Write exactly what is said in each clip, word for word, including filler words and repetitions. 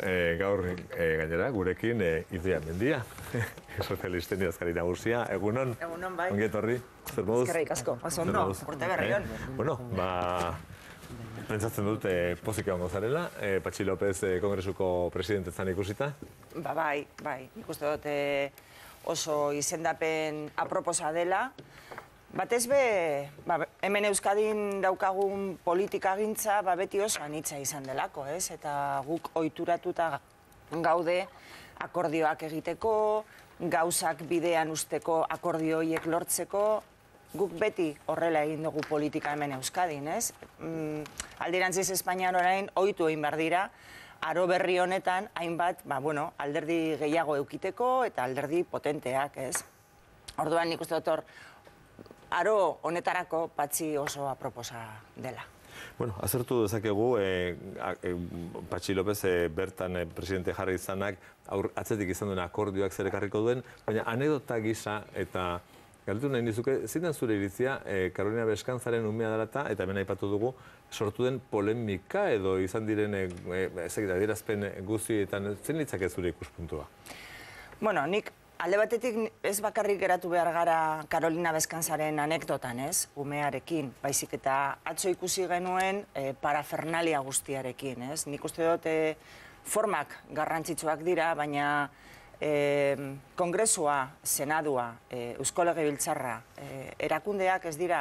e, gaur e, gainera, gurekin e, Idoia Mendia, sozialisten idazkari nagusia. Egunon? Egunon, bai. Ongi etorri, zer moduz? Eskerrik asko, oso ondo, urte berrion. Eh? Bueno, ba, pentsatzen dut e, pozik egongo zarela, e, Patxi López e, kongresuko presidentetzan ikusita? Ba, bai, bai, nik uste dut e, oso izendapen aproposa dela. Batez be, ba, hemen Euskadin daukagun politikagintza ba, beti oso anitza izan delako, ez? Eta guk ohituratuta gaude akordioak egiteko, gauzak bidean usteko akordio horiek lortzeko, guk beti horrela egin dugu politika hemen Euskadin, ez? Mm, alderantziz Espainian orain ohitu egin behar dira, aro berri honetan hainbat, ba, bueno, alderdi gehiago eukiteko eta alderdi potenteak, ez? Orduan nik uste dut hor, aro honetarako Patxi oso aproposa dela. Bueno, azertu dezakegu, e, e, Patxi López e, bertan e, presidente jarri izanak aur, atzetik izan duen akordioak zer ekarriko duen, baina anedota gisa eta galdetu nahi nizuke, zein zure iritzia e, Karolina Beskantzaren umea dela eta hemen aipatu dugu sortu den polemika edo izan diren e, e, adierazpen guztietan, zein litzake zure ikuspuntua? Bueno, nik alde batetik ez bakarrik geratu behar gara Karolina Beskantzaren anekdotan, ez, umearekin, baizik eta atzo ikusi genuen e, parafernalia guztiarekin, ez. Nik uste dut e, formak garrantzitsuak dira, baina e, kongresua, senadua, e, Eusko Legebiltzarra, e, erakundeak ez dira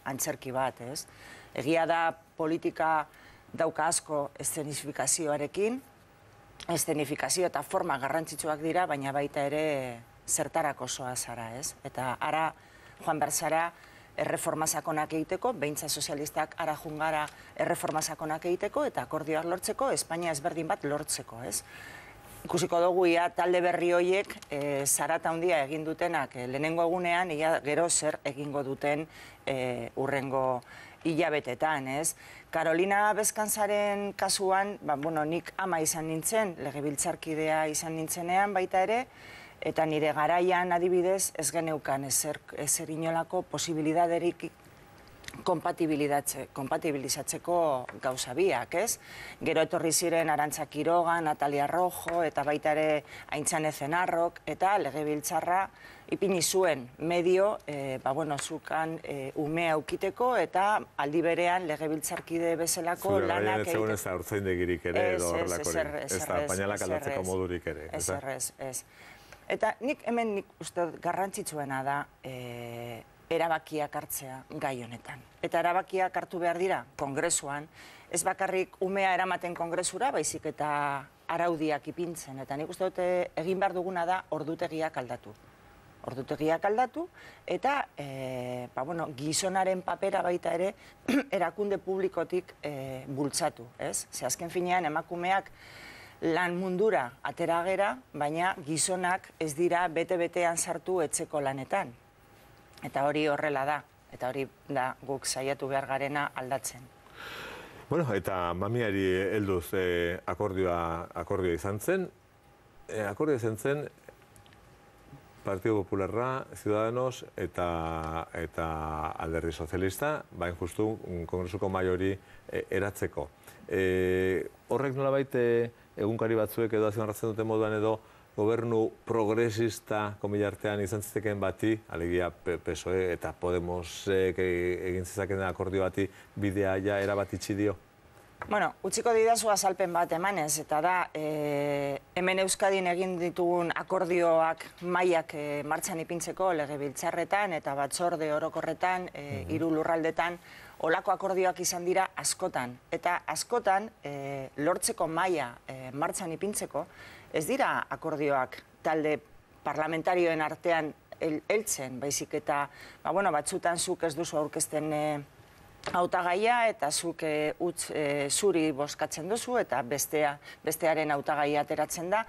antzerki bat, ez. Egia da politika dauka asko eszenifikazioarekin, eszenifikazio eta forma garrantzitsuak dira, baina baita ere zertarako soa zara, ez? Eta ara joan behar zara erreforma sakonak egiteko, beintza sozialistak ara jungara erreforma sakonak egiteko eta akordioak lortzeko, Espainia ezberdin bat lortzeko, ez? Ikusiko dugu ia talde berri horiek e, zarata handia egin dutenak e, lehenengo egunean, ia gero zer egingo duten e, urrengo hilabetetan, ez? Karolina Beskantzaren kasuan, ba, bueno, nik ama izan nintzen, legebiltzarkidea izan nintzenean baita ere, eta nire garaian adibidez ez geneukan ezer, ezer inolako posibilidaderik kompatibilizatzeko gauza biak, ez? Gero etorri ziren Arantza Quiroga, Natalia Rojo, eta baita ere Aintzane Zenarrok, eta legebiltzarra ipini zuen medio, e, ba, bueno, zukan e, umea aukiteko, eta aldi berean legebiltzarkide bezalako lanak egiteko. Zure garaian ez da urtzaindegirik ere, edo horrelakorik, ez da pañalak aldatzeko modurik ere. Ez, ez, ez. Eta nik hemen nik uste garrantzitsuena da, e, erabakiak hartzea gai honetan. Eta erabakiak hartu behar dira kongresuan, ez bakarrik umea eramaten kongresura, baizik eta araudiak ipintzen. Eta nik uste dute egin behar duguna da ordutegiak aldatu. Ordutegiak aldatu, eta e, ba, bueno, gizonaren papera baita ere erakunde publikotik e, bultzatu. Ez? Ze azken finean emakumeak lan mundura atera gera, baina gizonak ez dira bete-betean sartu etxeko lanetan. Eta hori horrela da, eta hori da guk saiatu behar garena aldatzen. Bueno, eta mamiari helduz eh, akordioa, akordioa izan zen. Eh, akordioa izan zen Partido Popularra, Ciudadanos eta, eta Alderdi Sozialista, bain justu kongresuko maiori eh, eratzeko. Eh, horrek nolabait eh, egunkari batzuek edo azionarratzen duten moduan edo gobernu progresista komilartean izan zitekeen bati, alegia P S O E eta Podemosek egin zezakeen akordio bati bidea ja erabat itxi dio? Bueno, utziko didazu azalpen bat emanez, eta da, e, hemen Euskadin egin ditugun akordioak mailak e, martxan ipintzeko legebiltzarretan eta batzorde orokorretan, e, hiru lurraldetan, olako akordioak izan dira askotan. Eta askotan, e, lortzeko maila e, martxan ipintzeko, ez dira akordioak talde parlamentarioen artean heltzen, baizik eta, ba, bueno, batzutan zuk ez duzu aurkezten e, hautagaia eta zuk e, utz e, zuri bozkatzen duzu eta bestea, bestearen hautagaia ateratzen da.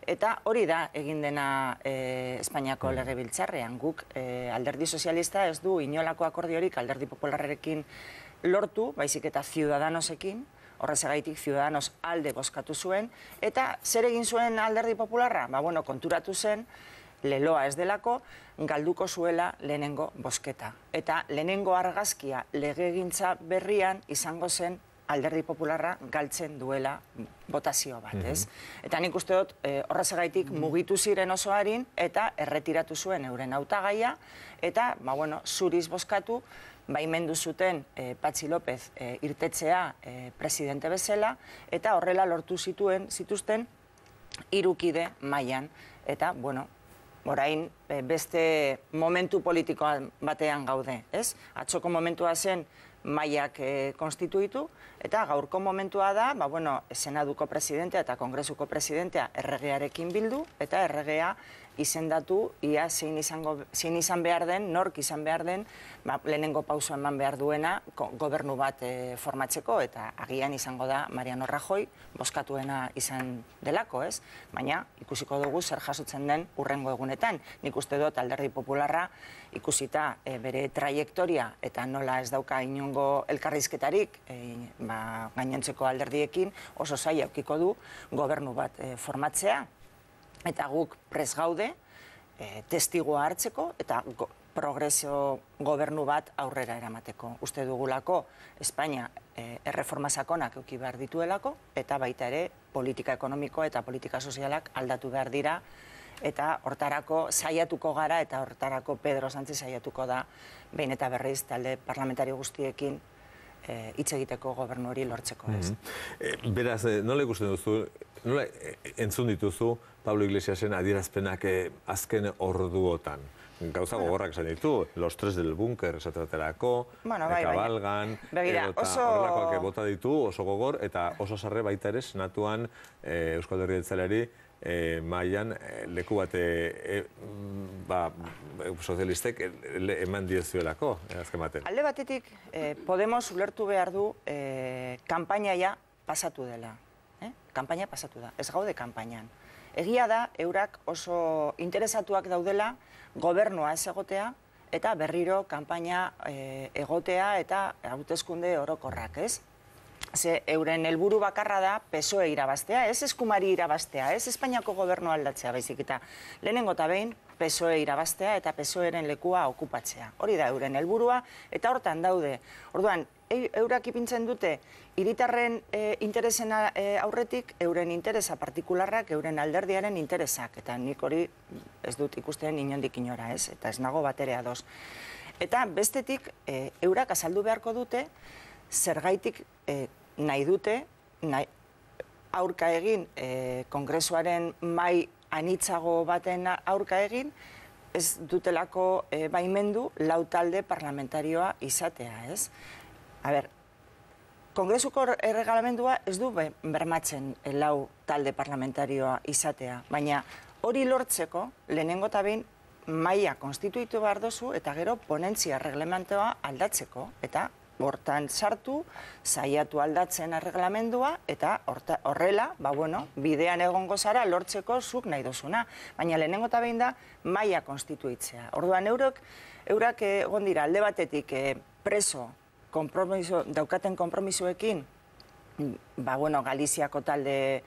Eta hori da egin dena e, Espainiako legebiltzarrean. Guk e, Alderdi Sozialista ez du inolako akordiorik Alderdi Popularrekin lortu, baizik eta Ciudadanosekin, horrezagaitik Ciudadanos alde bozkatu zuen, eta zer egin zuen Alderdi Popularra? Ba, bueno, konturatu zen, leloa ez delako, galduko zuela lehenengo bozketa. Eta lehenengo argazkia legegintza berrian izango zen Alderdi Popularra galtzen duela botazio bat, ez? Eta nik uste dut horrezagaitik mugitu ziren oso harin eta erretiratu zuen euren hautagaia eta, ba, bueno, zuriz bozkatu, baimendu zuten Patxi López irtetzea presidente bezala eta horrela lortu zituen zituzten hirukide mailan eta, bueno, orain beste momentu politikoa batean gaude, ez? Atzoko momentua zen mailak konstituitu, eta gaurko momentua da, ba, bueno, Senaduko presidentea eta Kongresuko presidentea erregearekin bildu, eta erregea izendatu, ia zein izan behar den, nork izan behar den, lehenengo pauso eman behar duena gobernu bat formatzeko, eta agian izango da Mariano Rajoy bozkatuena izan delako, ez? Baina ikusiko dugu zer jasotzen den urrengo egunetan. Nik uste dut Alderdi Popularra ikusita bere trajektoria eta nola ez dauka inongo elkarrizketarik gainontzeko alderdiekin oso zaila aukiko du gobernu bat formatzea. Eta guk prez gaude, testigua hartzeko eta progresio gobernu bat aurrera eramateko. Uste dugulako Espainia erreforma sakonak euki behar dituelako, eta baita ere politika ekonomiko eta politika sozialak aldatu behar dira, eta hortarako saiatuko gara, eta hortarako Pedro Sánchez saiatuko da, behin eta berriz talde parlamentario guztiekin hitz egiteko gobernu hori lortzeko. Beraz, nola ikusten duzu, nola entzun dituzu Pablo Iglesiasen adierazpenak azken orduotan? Gauza gogorrak esan ditu, los tres del búnker esatraterako, kabalgan, horrelakoak bota ditu, oso gogor, eta oso sarre baita ere senatuan Euskal Herria Jeltzaleari mailan leku bat sozialistek eman diezuelako, azken baten. Alde batetik, Podemos ulertu behar du kanpainaia pasatu dela. Kanpaina pasatu da, ez gaude kanpainan. Egia da, eurak oso interesatuak daudela gobernua ez egotea eta berriro kanpaina egotea eta hauteskunde orokorrak, ez? Ze euren helburu bakarra da P S O E irabaztea, ez eskumari irabaztea, ez Espainiako gobernu aldatzea baizik eta lehenengo eta behin P S O E irabaztea eta P S O E-ren lekua okupatzea. Hori da euren helburua eta hortan daude. Orduan, eurak ipintzen dute hiritarren interesen aurretik euren interesa partikularrak, euren alderdiaren interesak, eta nik hori ez dut ikusten inondik inora, ez? Eta ez nago batere ados. Eta bestetik, eurak azaldu beharko dute zergaitik nahi dute aurka egin, kongresuaren mai anitzago baten aurka egin, ez dutelako baimendu lau talde parlamentarioa izatea, ez? A ber, kongresuko erregalamendua ez du bermatzen lau talde parlamentarioa izatea, baina hori lortzeko lehenengo eta behin maila konstituitu behar dozu eta gero ponentzia erreglamentoa aldatzeko, eta hortan sartu, saiatu aldatzen erreglamendua, eta horrela, ba bueno, bidean egongo zara lortzeko zuk nahi dozuna. Baina lehenengo eta behin da, maila konstituitzea. Orduan, eurak egon dira alde batetik preso daukaten konpromisoekin, ba bueno, Galiziako talde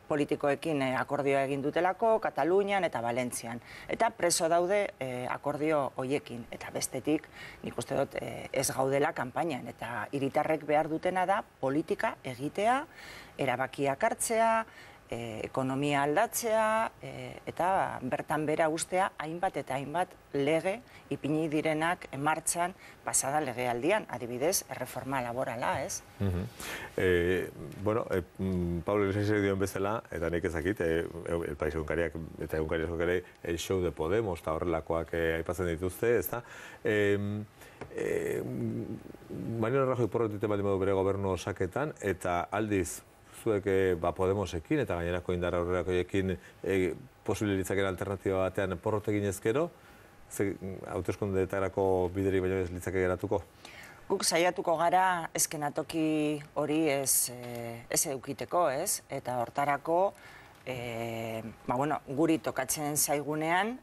politikoekin akordioa egin dutelako, Katalunian eta Valentzian. Eta preso daude akordio hoiekin. Eta bestetik, nik uste dut ez gaudela kanpainan. Eta hiritarrek behar dutena da politika egitea, erabakiak hartzea, ekonomia aldatzea, eta bertan bera ustea hainbat eta hainbat lege ipini direnak martxan pasada legealdian, adibidez, erreforma laborala, ez? Bueno, Pablo Iglesias dioen bezala, eta nik ezakit, El País egunkariak eta egunkariak egunkari el show de Podemos eta horrelakoak aipatzen dituzte, ez da? Mariano Rajoy porrotite baldin badu bere gobernu osaketan, eta aldiz zuek Podemosekin eta gainerako indar aurrerakoiekin posible litzakera alternatiba batean porrotekin ezkero, hauteskundeetarako bideri baino ez litzake geratuko? Guk saiatuko gara eskenatoki hori ez edukiteko, ez? Eta hortarako, guri tokatzen zaigunean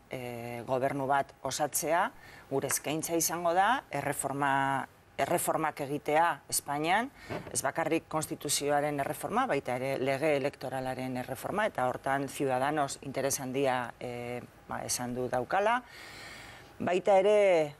gobernu bat osatzea, gure eskaintza izango da, erreforma erreformak egitea Espainian, ez bakarrik konstituzioaren erreforma, baita ere lege elektoralaren erreforma, eta hortan Ciudadanos interes handia esan du daukala. Baita ere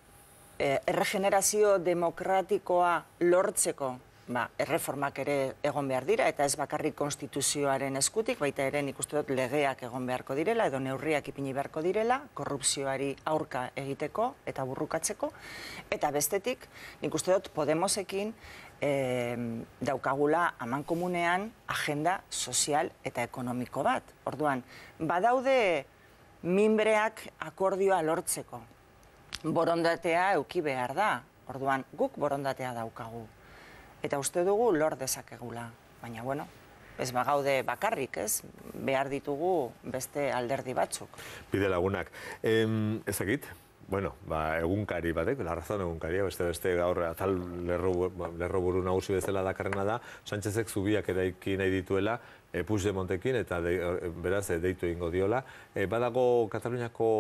erregenerazio demokratikoa lortzeko erreformak ere egon behar dira, eta ez bakarrik konstituzioaren eskutik, baita ere nik uste dut legeak egon beharko direla, edo neurriak ipini beharko direla, korrupzioari aurka egiteko eta burrukatzeko, eta bestetik, nik uste dut Podemosekin daukagula amankomunean agenda sozial eta ekonomiko bat. Orduan, badaude minbreak akordioa lortzeko. Borondatea euki behar da. Orduan, guk borondatea daukagu. Eta uste dugu lor dezakegula. Baina, bueno, ez bagaude bakarrik, ez? Behar ditugu beste alderdi batzuk. Bide lagunak. Ezakit, bueno, egunkari batek, La Razón egunkaria, beste-beste gaur atal lerro buru nagusi bezala dakarrena da, Sánchezek zubiak eraiki nahi dituela, Puigdemontekin, eta beraz deitu egingo diola. Badago Kataluniako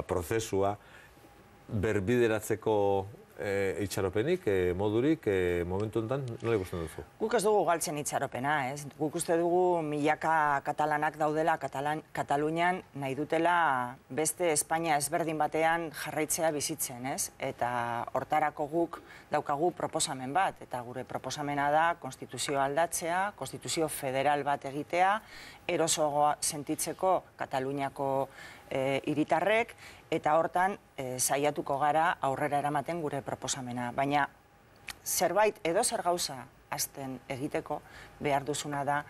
prozesua berbideratzeko itxaropenik, modurik, momentu enten, nola ikusten duzu? Guk ez dugu galtzen itxaropena, ez? Guk uste dugu milaka katalanak daudela Katalunian nahi dutela beste Espainia ezberdin batean jarraitzea bizitzen, ez? Eta hortarako guk daukagu proposamen bat, eta gure proposamena da konstituzioa aldatzea, konstituzio federal bat egitea, erosoago sentitzeko Kataluniako hiritarrek, eta hortan saiatuko gara aurrera eramaten gure proposamena. Baina zerbait edo zer gauza hasten egiteko behar duzuna da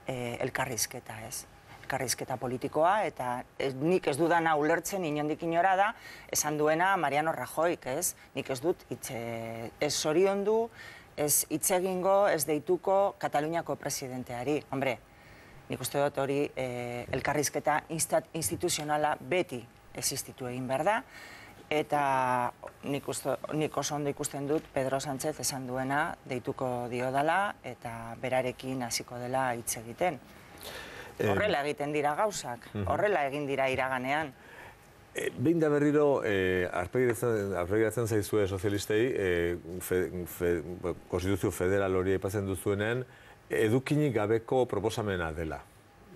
elkarrizketa, ez? Elkarrizketa politikoa, eta nik ez dudana ulertzen inondik inora da, esan duena Mariano Rajoyk, ez? Nik ez dut ez zoriondu, ez hitz egingo, ez deituko Kataluniako presidenteari. Hombre, nik uste dut hori elkarrizketa instituzionala beti existitu egin behar da, eta nik oso ondo ikusten dut Pedro Sánchez esan duena deituko dio dela, eta berarekin hasiko dela hitz egiten. Horrela egiten dira gauzak, horrela egin dira iraganean. Behin da berriro, arpegiratzen zaizue sozialistei, konstituzio federal hori aipatzen duzuenean, edukinik gabeko proposamena dela.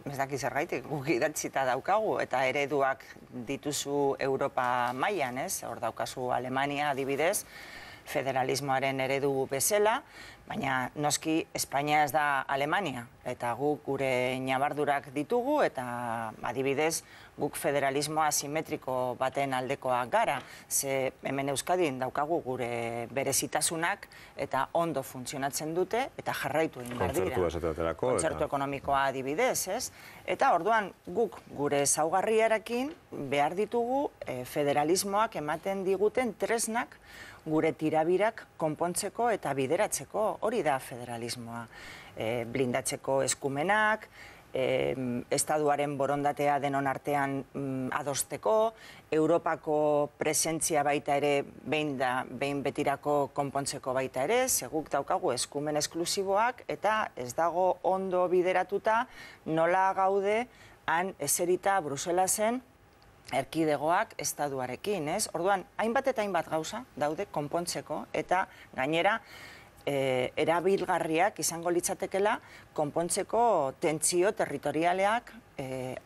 Ez daki zergaitik, guk idatzita daukagu, eta ereduak dituzu Europa mailan, ez? Hor daukazu Alemania adibidez, federalismoaren eredu bezala, baina noski Espainia ez da Alemania, eta guk gure ñabardurak ditugu, eta adibidez guk federalismoa asimetriko baten aldekoak gara, ze hemen Euskadin daukagu gure berezitasunak eta ondo funtzionatzen dute, eta jarraitu egin behar dira. Kontzertu esaterako. Kontzertu ekonomikoa adibidez, ez? Eta orduan guk gure ezaugarriarekin behar ditugu federalismoak ematen diguten tresnak gure tirabirak konpontzeko eta bideratzeko, hori da federalismoa. Blindatzeko eskumenak, estaduaren borondatea denon artean adosteko, Europako presentzia baita ere behin betirako konpontzeko baita ere, seguk daukagu eskumen esklusiboak, eta ez dago ondo bideratuta nola gaude han eserita Bruselasen erkidegoak estaduarekin, ez? Orduan, hainbat eta hainbat gauza daude konpontzeko, eta gainera erabilgarriak izango litzatekela konpontzeko tentsio territorialeak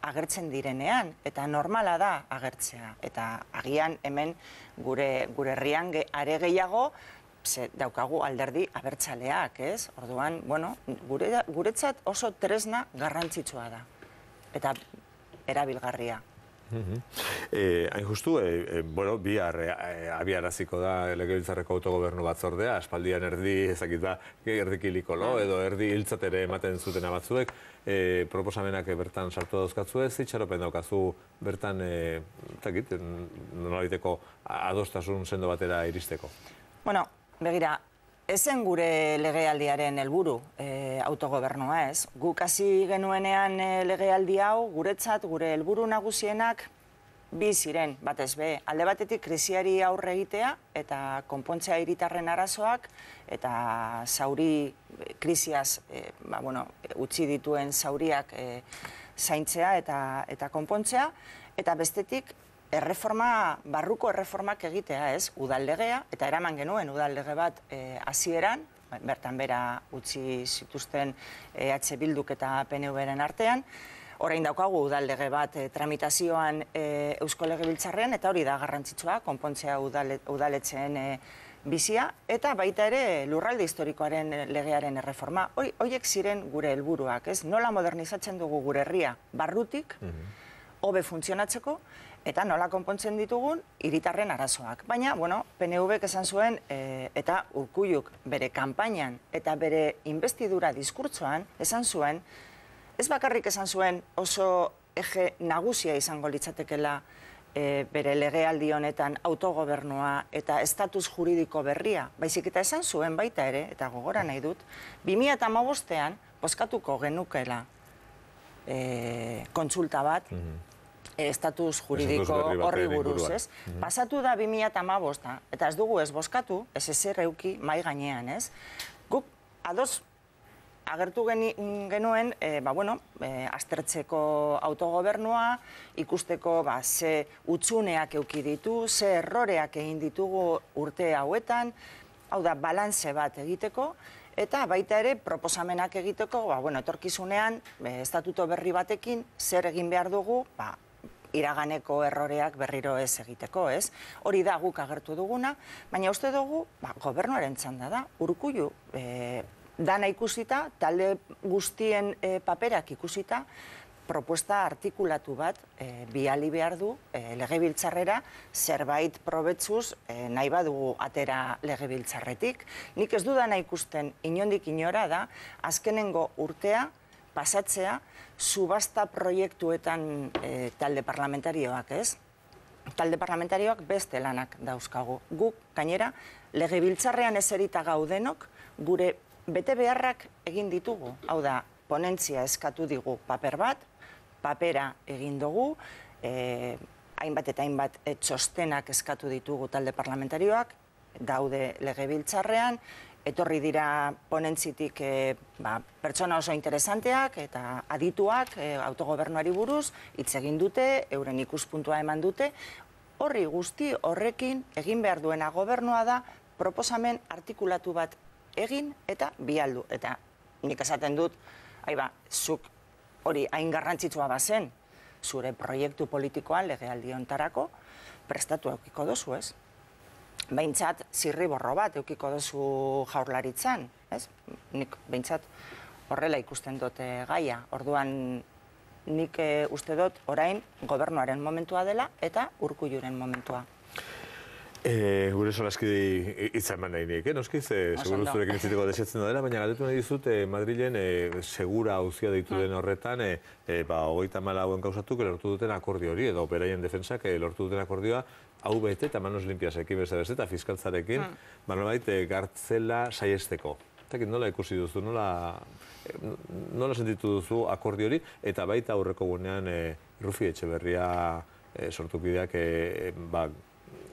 agertzen direnean, eta normala da agertzea. Eta agian hemen gure herrian are gehiago daukagu alderdi abertzaleak, ez? Orduan, bueno, guretzat oso tresna garrantzitsua da, eta erabilgarria. Hain justu, bihar abiaraziko da Legebiltzarreko autogobernu batzordea, aspaldian erdi ezakit da, erdikiliko lo, edo erdi hiltzatere ematen zutena batzuek, proposamenak bertan sartu dauzkatzu ez, itxaropen daukazu bertan, ezakit, nolaiteko adostasun sendo batera iristeko. Bueno, begira, ezen gure legealdiaren helburu autogobernua, ez? Guk hasi genuenean legealdi hau, guretzat, gure helburu nagusienak bi ziren, batez be, alde batetik krisiari aurre egitea eta konpontzea hiritarren arazoak eta zauri krisiaz utzi dituen zauriak zaintzea eta konpontzea, eta bestetik erreforma, barruko erreformak egitea, ez, udallegea, eta eraman genuen udallege bat hasieran, bertan bera utzi zituzten E H Bilduk eta P N V-ren artean, orain daukagu udallege bat tramitazioan Eusko Legebiltzarrean, eta hori da garrantzitsua, konpontzea udaletxeen bizia, eta baita ere lurralde historikoaren legearen erreforma. Hoiek ziren gure helburuak, ez? Nola modernizatzen dugu gure herria barrutik, hobe funtzionatzeko, eta nola konpontzen ditugun hiritarren arazoak. Baina, bueno, P N Vk esan zuen, eta Urkulluk bere kanpainan eta bere investidura diskurtsoan esan zuen, ez bakarrik esan zuen oso eje nagusia izango litzatekela bere legealdi honetan autogobernua eta estatus juridiko berria, baizik eta esan zuen baita ere, eta gogora nahi dut, bi mila hamabostean bozkatuko genukela kontsulta bat, estatus juridiko horri buruz, ez? Pasatu da bi mila hamabosta, eta ez dugu ez bozkatu, ez ezer euki mai gainean, ez? Guk ados agertu genuen, ba, bueno, aztertzeko autogobernua, ikusteko, ba, ze utzuneak euki ditu, ze erroreak egin ditugu urte hauetan, hau da, balantze bat egiteko, eta baita ere proposamenak egiteko, ba, bueno, etorkizunean, estatuto berri batekin, zer egin behar dugu, ba, iraganeko erroreak berriro ez egiteko, ez? Hori da guk agertu duguna, baina uste dugu, ba, gobernuaren txanda da, Urkullu, dana ikusita, talde guztien paperak ikusita, propuesta artikulatu bat biali behar du legebiltzarrera zerbait probetzuz nahi badugu atera legebiltzarretik. Nik ez dudana ikusten inondik inora da, azkenengo urtea pasatzea subasta proiektuetan talde parlamentarioak, ez? Talde parlamentarioak beste lanak dauzkagu. Guk, gainera, legebiltzarrean ezerita gaudenok, gure bete beharrak egin ditugu. Hau da, ponentzia eskatu digu paper bat, papera egin dugu, hainbat eta hainbat txostenak eskatu ditugu talde parlamentarioak, daude legebiltzarrean, etorri dira ponentzitik pertsona oso interesanteak eta adituak autogobernuari buruz, hitz egin dute, euren ikuspuntua eman dute, horri guzti horrekin egin behar duena gobernua da proposamen artikulatu bat egin eta bialdu. Eta nik esaten dut, aiba, zuk hori hain garrantzitsua bazen, zure proiektu politikoan legealdi hontarako prestatu eukiko dozu, ez? Behintzat, zirriborro bat eukiko dozu jaurlaritzan, ez? Nik behintzat horrela ikusten dut gaia. Orduan, nik uste dut orain gobernuaren momentua dela eta Urkulluren momentua. Gure solaskide hitza eman nahi nik, noskiz, seguru zurekin itziteko desetzen dela, baina galdetu nahi dizut Madrilen segura auzia deitu den horretan, hogeita hamalau enkausatuko lortu duten akordio hori, edo beraien defentsak lortu duten akordioa, hau bete eta manos limpiasekin beste beste eta fiskaltzarekin, nolabait gartzela saiesteko. Nola ikusi duzu, nola sentitu duzu akordio hori, eta baita aurreko gunean Rufi Etxeberria sortukideak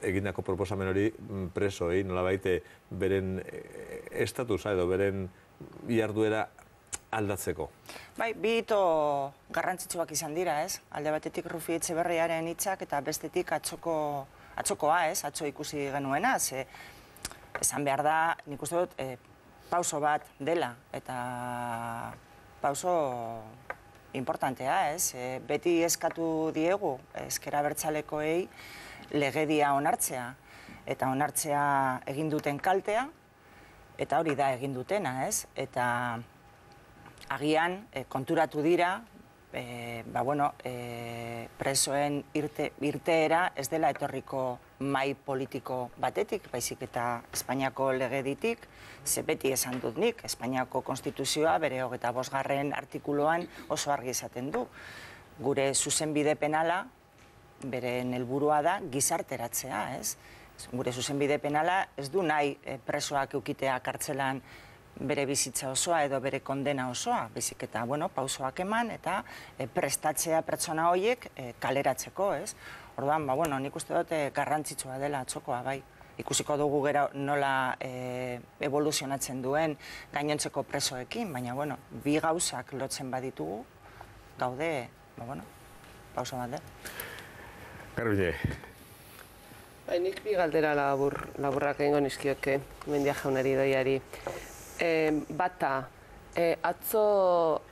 egindako proposamen hori presoei, nolabait beren estatusa edo beren jarduera aldatzeko. Bai, bi hito garrantzitsuak izan dira, ez? Alde batetik Rufi Etxeberriaren hitzak eta bestetik atzokoa, ez? Atzo ikusi genuena, ze esan behar da, nik uste dut, pauso bat dela, eta pauso importantea, ez? Beti eskatu diegu, ezker abertzalekoei, legedia onartzea, eta onartzea egin duten kaltea, eta hori da egin dutena, ez? Eta agian konturatu dira, ba bueno, presoen irteera ez dela etorriko mai politiko batetik, baizik eta Espainiako legeditik, ze beti esan dut nik, Espainiako konstituzioa bere hogeita bosgarren artikuluan oso argi izaten du. Gure zuzenbide penala, beren helburua da gizarteratzea, ez? Gure zuzenbide penala ez du nahi presoak eukitea kartzelan bere bizitza osoa edo bere kondena osoa, baizik eta, bueno, pausoak eman eta prestatzea pertsona horiek kaleratzeko, ez? Orduan, ba, bueno, nik uste dut garrantzitsua dela atzokoa, bai. Ikusiko dugu gero nola evoluzionatzen duen gainontzeko presoekin, baina, bueno, bi gauzak lotzen baditugu, gaude, ba, bueno, pauso bat, eh? Garbine. Bai, nik bi galdera laburrak egingo nizkioke, Mendia jaunari doiari. Bata, atzo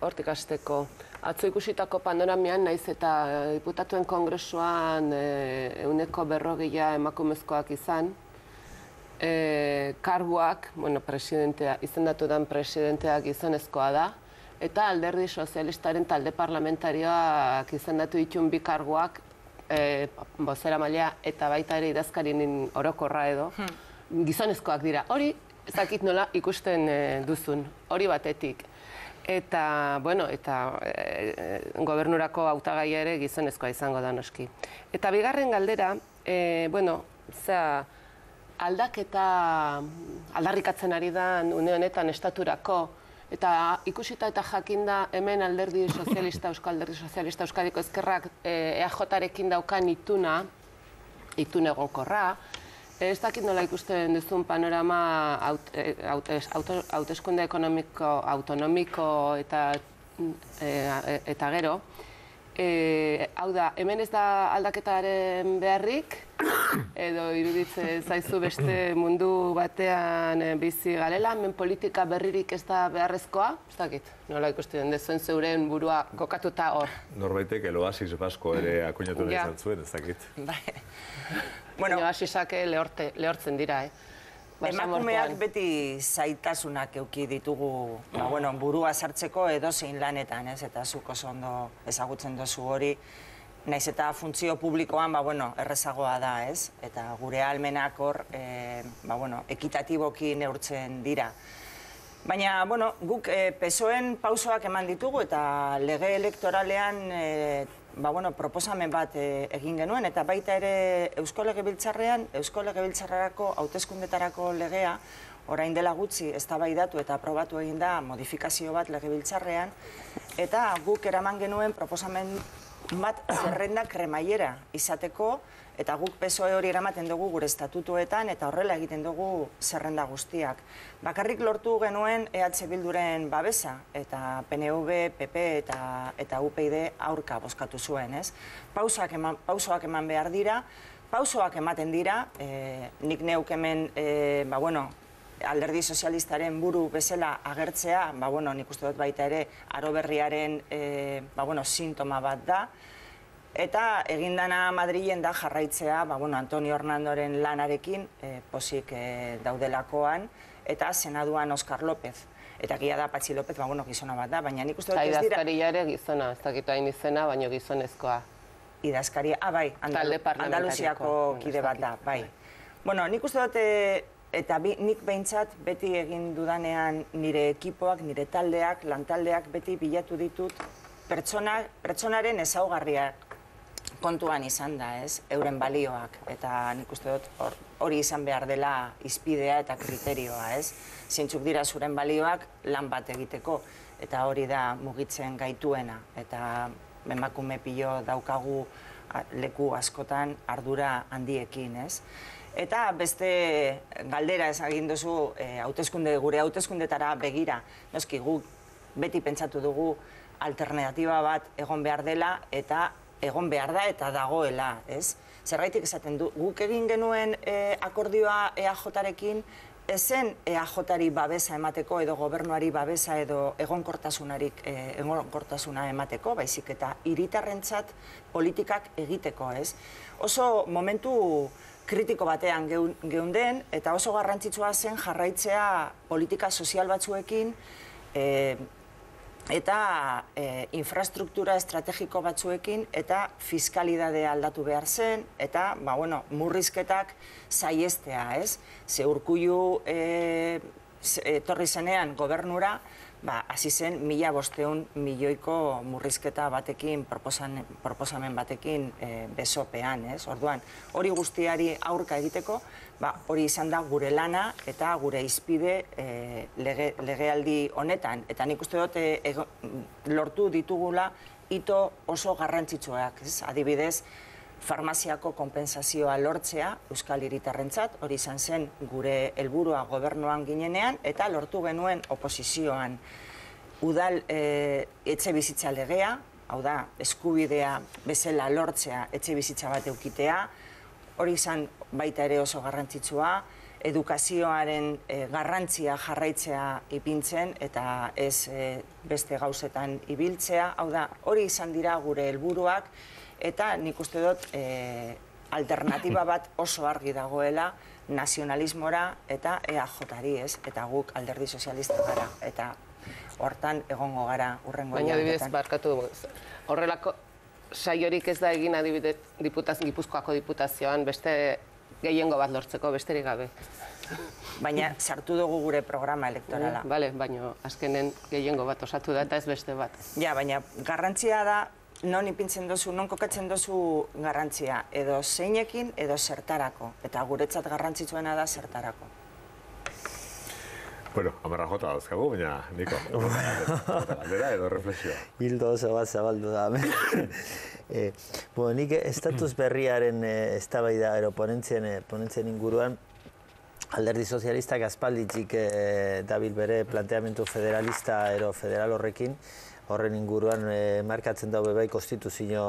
hortik hasteko, atzo ikusitako panoramian, naiz eta diputatuen kongresuan ehuneko berrogeia emakumezkoak izan, karguak, bueno, presidentea, izendatu den presidenteak gizonezkoa da, eta alderdi sozialistaren talde parlamentarioak izendatu ditun bi karguak, bozeramailea eta baita ere idazkarien orokorra edo, gizonezkoak dira. Hori, ez dakit nola ikusten duzun, hori batetik. Eta, bueno, eta gobernurako hautagaia ere gizonezkoa izango da noski. Eta bigarren galdera, bueno, zera, aldaketa aldarrikatzen ari da une honetan estaturako, eta ikusita eta jakinda hemen alderdi sozialista, Euskal Alderdi Sozialista Euskadiko Ezkerrak E A J-rekin daukan ituna, itun egonkorra, ez dakit nola ikusten duzun panorama hauteskunde ekonomiko, autonomiko eta gero. Hau da, hemen ez da aldaketaren beharrik, edo iruditzen zaizu beste mundu batean bizi garela, hemen politika berririk ez da beharrezkoa? Ez dakit, nola ikusten duzuen zeuren burua kokatuta hor. Norbaitek eloasis basko ere akuinatu nahi izan zuen, ez dakit. Eloasisak lehortzen dira, eh? Emakumeak beti zaitasunak euki ditugu burua sartzeko edozein lanetan, eta zuk oso ondo ezagutzen duzu hori, naiz eta funtzio publikoan errezagoa da, ez? Eta gure ahalmenak hor ekitatiboki neurtzen dira. Baina, guk P S O En pausoak eman ditugu eta lege elektoralean proposamen bat egin genuen, eta baita ere Eusko Legebiltzarrean, Eusko Legebiltzarrarako hauteskundetarako legea, orain dela gutxi eztabaidatu eta aprobatu egin da modifikazio bat Legebiltzarrean, eta guk eraman genuen proposamen bat zerrenda kremaiera izateko, eta guk P S O E hori eramaten dugu gure estatutuetan, eta horrela egiten dugu zerrenda guztiak. Bakarrik lortu genuen E H Bilduren babesa, eta P N V, P P eta U P y D aurka bozkatu zuen, ez? Pausoak eman behar dira, pausoak ematen dira, nik neuk hemen, alderdi sozialistaren buru bezala agertzea, nik uste dut baita ere, aro berriaren sintoma bat da, eta egindana Madrilen da jarraitzea Antonio Hernandoren lanarekin pozik daudelakoan, eta senaduan Oskar López. Eta gira da Patxi López, gizona bat da, baina nik uste dut ez dira... Idazkaria ere gizona, ez dakitu hain izena, baina gizonezkoa. Idazkaria, ah, bai, Andaluziako kide bat da, bai. Bueno, nik uste dut, eta nik behintzat beti egin dudanean nire ekipoak, nire taldeak, lantaldeak beti bilatu ditut pertsonaren ezaugarriak kontuan izan da, ez, euren balioak, eta nik uste dut hori izan behar dela izpidea eta kriterioa, ez, zeintzuk dira zuren balioak lan bat egiteko, eta hori da mugitzen gaituena, eta emakume pilo daukagu leku askotan ardura handiekin, ez. Eta beste galdera ez egin duzu gure hauteskundetara begira, noski guk beti pentsatu dugu alternatiba bat egon behar dela, eta egon behar da eta dagoela, ez? Zergaitik esaten du, guk egin genuen akordioa E A J-rekin, ezen E A J-ari babesa emateko edo gobernuari babesa edo egonkortasuna emateko, baizik eta hiritarrentzat politikak egiteko, ez? Oso momentu kritiko batean geunden, eta oso garrantzitsua zen jarraitzea politika sozial batzuekin, eta infrastruktura estrategiko batzuekin, eta fiskalidadea aldatu behar zen, eta murrizketak saiestea, ez? Ze Urkullu etorri zenean gobernura, hasi zen mila bosteun milioiko murrizketa batekin, proposamen batekin besopean, ez? Orduan, hori guztiari aurka egiteko, hori izan da gure lana eta gure izpide legealdi honetan. Eta nik uste dut lortu ditugula hito oso garrantzitsuak, ez? Adibidez, farmaziako konpentsazioa lortzea Euskal Hiritarrentzat, hori izan zen gure helburua gobernuan ginenean, eta lortu genuen oposizioan udal etxe bizitza legea, hau da, eskubidea bezala lortzea etxe bizitza bat eukitea, hori izan baita ere oso garrantzitsua, edukazioaren garrantzia jarraitzea ipintzen eta ez beste gauzetan ibiltzea, hau da, hori izan dira gure helburuak, eta nik uste dut alternatiba bat oso argi dagoela nazionalismora eta E A Jari, ez? Eta guk alderdi sozialista gara, eta hortan egongo gara urrengo baina adibidez, barkatu, horrelako saiorik ez da egin adibidez Gipuzkoako diputazioan beste gehiengo bat lortzeko, besterik gabe. Baina sartu dugu gure programa elektorala. Bale, baina azkenen gehiengo bat osatu da eta ez beste bat. Ja, baina garrantzia da, non ipintzen dozu, non kokatzen dozu garrantzia, edo zeinekin, edo zertarako. Eta guretzat garrantzitsuena da zertarako. Bueno, amarra jota dauzkagu, baina, Niko, galdera edo reflexioa. Hildo oso bat zabaldu da. eh, bueno, nik estatus berriaren eh, eztabaida ero ponentzien, eh, ponentzien inguruan, alderdi sozialistak aspalditzik eh, dabil bere planteamendu federalista ero federal horrekin, horren inguruan eh, markatzen daube bai konstituzio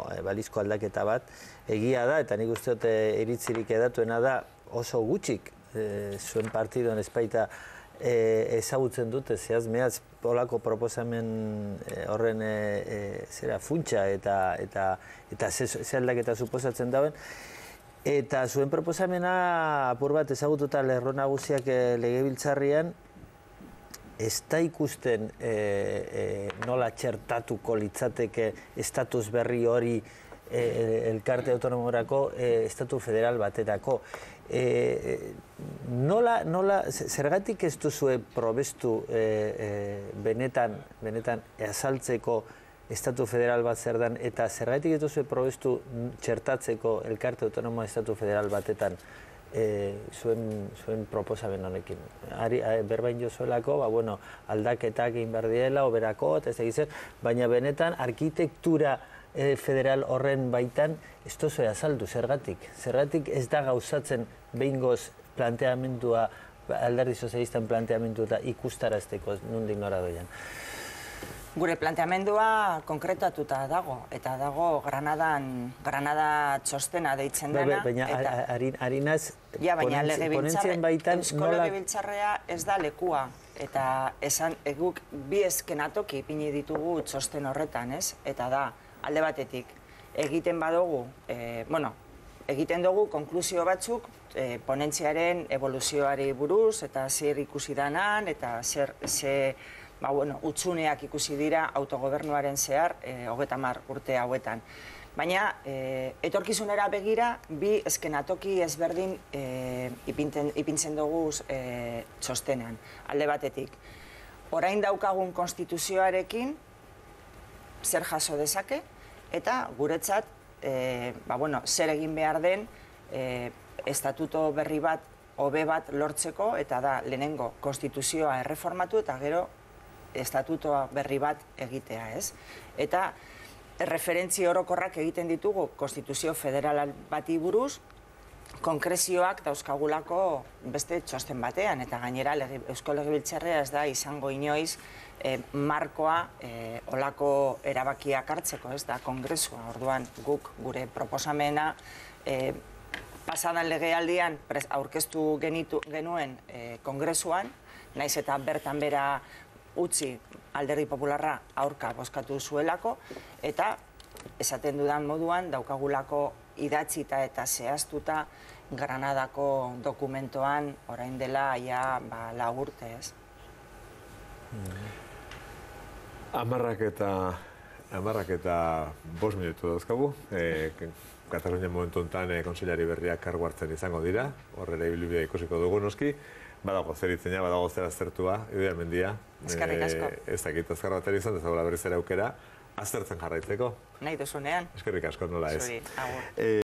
eh, balizko aldaketa bat, egia da, eta nik uste dut eh, iritzirik edatuena da oso gutxik eh, zuen partidon espaita E, ezagutzen dute, zehaz, mehaz, olako proposamen e, horren e, e, zera funtsa eta eta eta ze aldaketa suposatzen dauen. Eta zuen proposamena apur bat ezagututa lerro nagusiak e, legebiltzarrian ez da ikusten e, e, nola txertatuko litzateke estatus berri hori e, elkarte autonomorako e, estatu federal baterako. E, nola, nola, zergatik ez duzue probestu e, e, benetan, benetan azaltzeko estatu federal bat zer dan, eta zergatik ez duzue probestu txertatzeko elkarte autonomoa estatu federal batetan e, zuen, zuen proposamen honekin. Ari, berbain jozuelako, ba, bueno, aldaketak egin behar diela, oberako, eta ez egizen, baina benetan arkitektura E, federal horren baitan ez duzue azaldu, zergatik. Zergatik ez da gauzatzen behingoz planteamendua, alderdi sozialistan planteamendua eta ikustarazteko nondik nora doian. Gure planteamendua konkretatuta dago, eta dago Granadan, Granada txostena deitzen dena. Baina harinaz, ja, baina ponentzien baitan Eusko Legebiltzarrea ez da lekua. Eta esan, guk bi eskenatoki ipini ditugu txosten horretan, ez? Eta da, alde batetik, egiten badugu, e, bueno, egiten dugu konklusio batzuk e, ponentziaren evoluzioari buruz, eta zer ikusi danan, eta zer, ze, ba, bueno, utzuneak ikusi dira autogobernuaren zehar, e, hogeita hamar urte hauetan. Baina, e, etorkizunera begira, bi eskenatoki ezberdin e, ipinten, ipintzen dugu e, txostenean, alde batetik. Orain daukagun konstituzioarekin, zer jaso dezake, eta guretzat, e, ba, bueno, zer egin behar den e, estatuto berri bat, hobe bat lortzeko, eta da lehenengo konstituzioa erreformatu, eta gero estatutoa berri bat egitea, ez? Eta referentzi orokorrak egiten ditugu konstituzio federal bati buruz, konkrezioak dauzkagulako beste txosten batean, eta gainera Eusko Legebiltzarrea ez da izango inoiz e, markoa e, olako erabakiak hartzeko, ez da, kongresua. Orduan guk gure proposamena e, pasadan legealdian aurkeztu genitu, genuen e, kongresuan, naiz eta bertan bera utzi alderdi popularra aurka bozkatu zuelako, eta esaten dudan moduan daukagulako idatzita eta zehaztuta Granadako dokumentoan orain dela ja ba, lau urte, ez? Amarrak eta, amarrak eta bost minutu dauzkagu. E, Katalunia momentu honetan e, konseilari berriak kargu hartzen izango dira. Horrela ibilbidea ikusiko dugu noski. Badago zer itzena, badago zer aztertua, Idoia Mendia. Eskerrik asko. E, ez dakit azkar bat izan, ez dagoela berriz ere aukera, aztertzen jarraitzeko. Nahi duzunean. Eskerrik asko, nola ez. Zuri, agur. E,